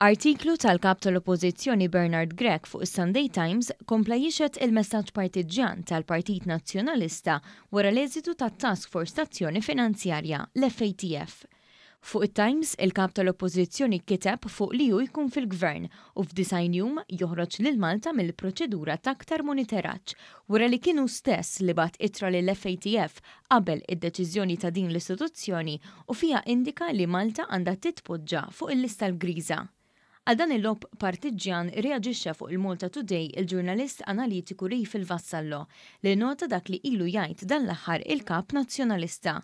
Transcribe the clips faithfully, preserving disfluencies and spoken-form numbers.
Artiklu tal-kap tal-Oppożizzjoni Bernard Grech fuq is-Sunday Times kompla jixhed il-messaġġ partiġġjan tal-Partit Nazzjonalista wara l-eżitu tat-Task Force t'Azzjoni Finanzjarja, l-F A T F. Fuq it-Times, il-kap tal-Oppożizzjoni kiteb fuq li hu jkun fil-gvern u f'disgħin jum joħroġ lil Malta mill-proċedura ta' aktar monitoraġġ wara li kien hu stess li bagħat ittra lill-F A T F qabel id-deċiżjoni ta' din l-istituzzjoni u fiha indika li Malta għandha titpoġġa fuq il-lista l-griża. Għal dan il-logħob partiġġjan reaġixxa fuq il-Malta Today il-ġurnalist analitiku Rafel Vassallo, li nota dak li ilu jgħid dan l-aħħar il-kap nazzjonalista.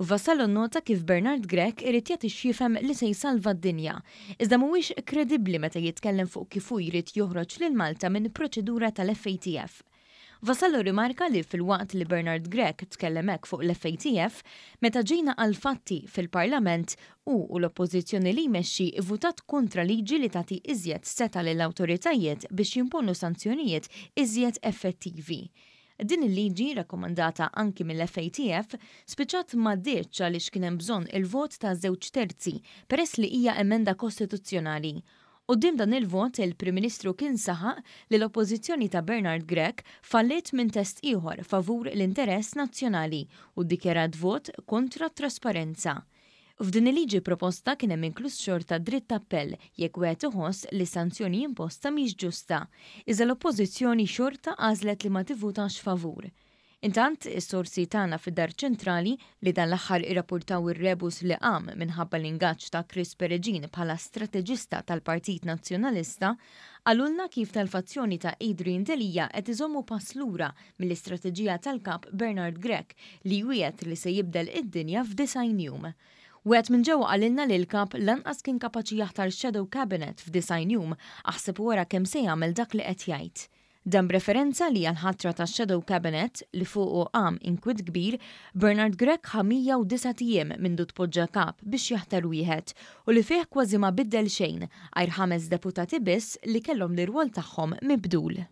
Vassallo nota kif Bernard Grech irid jagħti x'jifhem li se jsalva d-dinja, iżda mhuwiex kredibbli meta jitkellem fuq kif hu jrid joħroġ lil Malta minn proċedura tal-F A T F. Vassallo rimarka li filwaqt li Bernard Grech tkellem hekk fuq l-F A T F, meta ġejna għal-fatti fil-Parlament u u l-oppożizzjoni li jmexxi votat kontra liġi li tagħti iżjed setgħa lill-awtoritajiet biex jimponu sanzjonijiet iżjed effettivi. Din il-liġi, rakkomandata anki mill-F A T F, spiċċat m'għaddietx għaliex kien hemm bżonn il-vot ta' żewġ terzi peress li hija emenda kostituzzjonali. Quddiem dan il-vot, il-Prim Ministru kien saħaq li l-oppożizzjoni ta' Bernard Grech falliet minn test ieħor favur l-interess nazzjonali u ddikjarat vot kontra trasparenza. F'din il-liġi proposta kien hemm inkluż xorta dritt appell jekk wieħed iħoss li sanzjoni imposta mhix ġusta. Iżda l-oppożizzjoni xorta għażlet li ma tivvutax favur. Intant, is-sorsi tagħna fid-Dar Ċentrali, li dan l-aħħar irrapportaw ir-rebus li qam minħabba l-ingaġġ ta' Chris Peregin bħala strateġista tal-Partit Nazzjonalista, qalulna kif tal-fazzjoni ta' Adrian Delia qed iżommu pass lura mill-istrateġija tal-kap Bernard Grech li wiegħed li se jibdel id-dinja f'disgħin jum. Wieħed minn ġewwa qalilna li l-kap lanqas kien kapaċi jaħtar shadow cabinet f'disgħin jum, aħseb wara kemm se jagħmel dak li qed jgħid. Dan b'referenza li għal-ħatra ta' Shadow Cabinet li fuqu qam inkwiet kbir, Bernard Grech ħa mija u disat ijiem mindu tpoġġa kap biex jaħtar wieħed u li fih kważi ma biddel xejn għajr ħames deputati biss li kellhom l-irwol tagħhom mibdul.